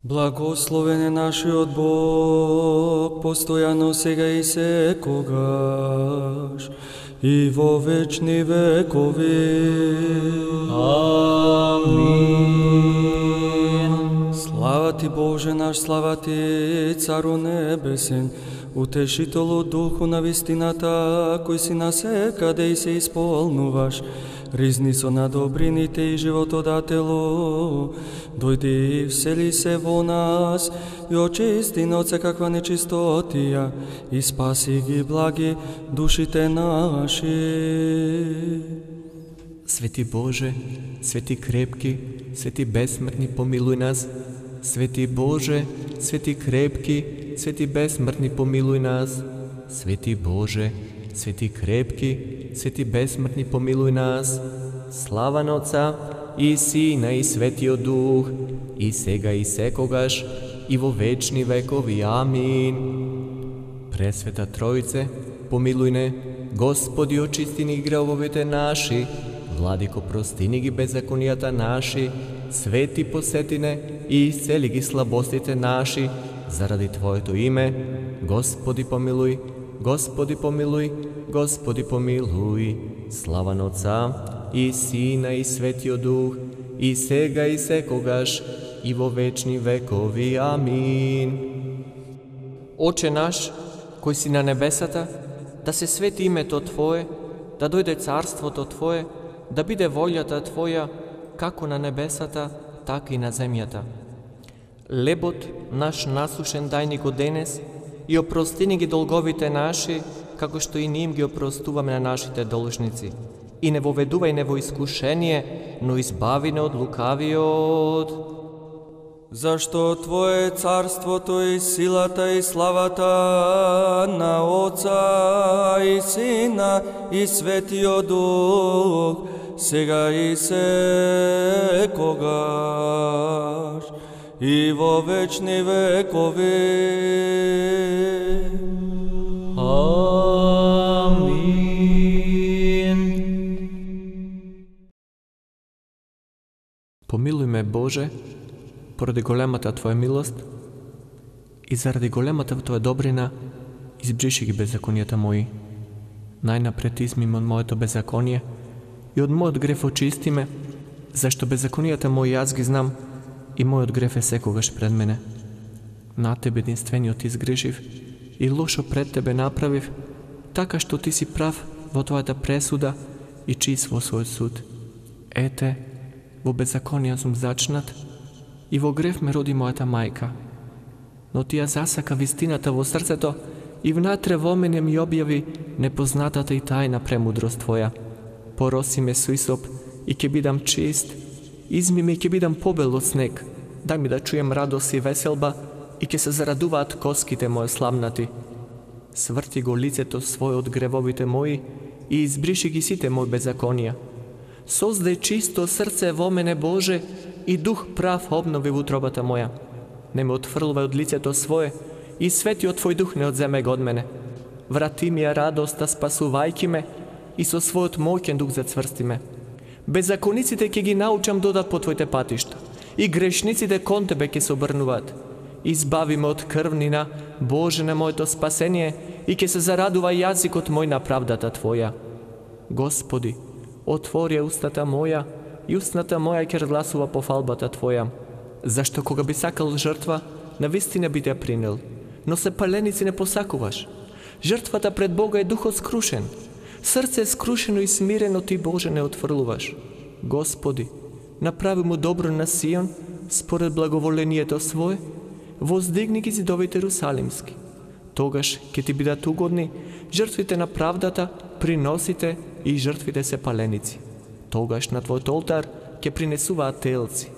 Благословен е нашиот Бог, постојано сега и секогаш, и во вечни векови. Амин. Слава ти, Боже наш, слава ти, Цару небесен, утешителу духу на вистината, кој си насекаде и се исполнуваш, ризницо на добрините и животодателу, дојди и всели се во нас и очисти на од секаква нечистотија и спаси ги благи душите наши. Свети Боже, свети крепки, свети бесмртни, помилуј нас. Свети Боже, свети крепки, свети бесмртни, помилуј нас. Свети Боже, свети крепки, свети бесмртни, помилуј нас. Слава на Отца и Сина и Светиот Дух, и сега и секогаш, и во вечни векови. Амин. Пресвета Троице, помилуј не. Господи, очисти ни гревовите наши. Владико, прости ни ги беззаконијата наши. Свети, посети не и исцели ги слабостите наши. Заради Твоето име, Господи, помилуј. Господи, помилуј. Господи, помилуј. Слава на Отца и Сина и Светиот Дух, и сега и секогаш, и во вечни векови. Амин. Оче наш, кој си на небесата, да се свети името Твое, да дојде царството Твое, да биде волјата Твоја, како на небесата, така и на земјата. Лебот наш насушен дај ни го денес, и опрости ни ги долговите наши, како што и ние им ги опростуваме на нашите должници. И не воведувај не во искушение, но избави не од лукавиот. Зашто Твое царството и силата и славата на Отца и Сина и Светиот Дух, сега и секогаш, и во вечни векови. Амин. Помилуј ме, Боже, поради големата Твоја милост и заради големата Твоја добрина, избриши ги беззаконијата мои. Најнапред изми ме од моето беззаконие и од мојот греф очисти ме, зашто беззаконијата мои јас ги знам и мојот греф е секогаш пред мене. На Тебе единствениот изгрешив и лошо пред Тебе направив, така што Ти си прав во Твојата пресуда и чист во својот суд. Ете, во беззаконија сум зачнат и во греф ме роди мојата мајка. Но Ти ја засака вистината во срцето и внатре во мене ми објави непознатата и тајна премудрост Твоја. Пороси ме со исоп и ќе бидам чист, изми ме и ќе бидам побел од снег. Дај ми да чуjem радост и веселба и ќе се зарадуваат коските мои славнати. Сврти го лицето свое од гревовите мои и избриши ги сите мои беззаконија. Создај чисто срце во мене, Боже, и дух прав обнови во утробата моја. Не ме отфрлувај од лицето свое и светиот Твој дух не одземе го од мене. Врати ми ја радоста, спасувајки ме, и со својот моќен дух зацврсти ме. Беззакониците ќе ги научам додат по Твоите патишта, и грешниците кон Тебе ќе се обрнуваат. Избави ме од крвнина, Боже, на моето спасение, и ќе се зарадува јазикот мој на правдата Твоја. Господи, отвори устата моја, и устната моја ќе разгласува пофалбата Твоја. Зашто кога би сакал жртва, навистина би те принел, но се паленици не посакуваш. Жртвата пред Бога е духот скрушен. Срце скрушено и смирено Ти, Боже, не отфрлуваш. Господи, направи му добро на Сион, според благоволението Свое, воздигни ги зидовите Ерусалимски. Тогаш ќе Ти бидат угодни жртвите на правдата, приносите и жртвите се паленици. Тогаш на Твојот олтар ќе принесуваат телци.